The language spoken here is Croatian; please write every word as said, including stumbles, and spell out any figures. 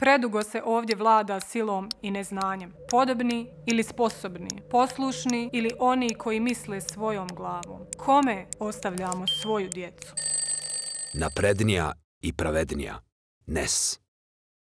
Predugo se ovdje vlada silom i neznanjem. Podobni ili sposobni, poslušni ili oni koji misle svojom glavom. Kome ostavljamo svoju djecu? Naprednija i pravednija. N E S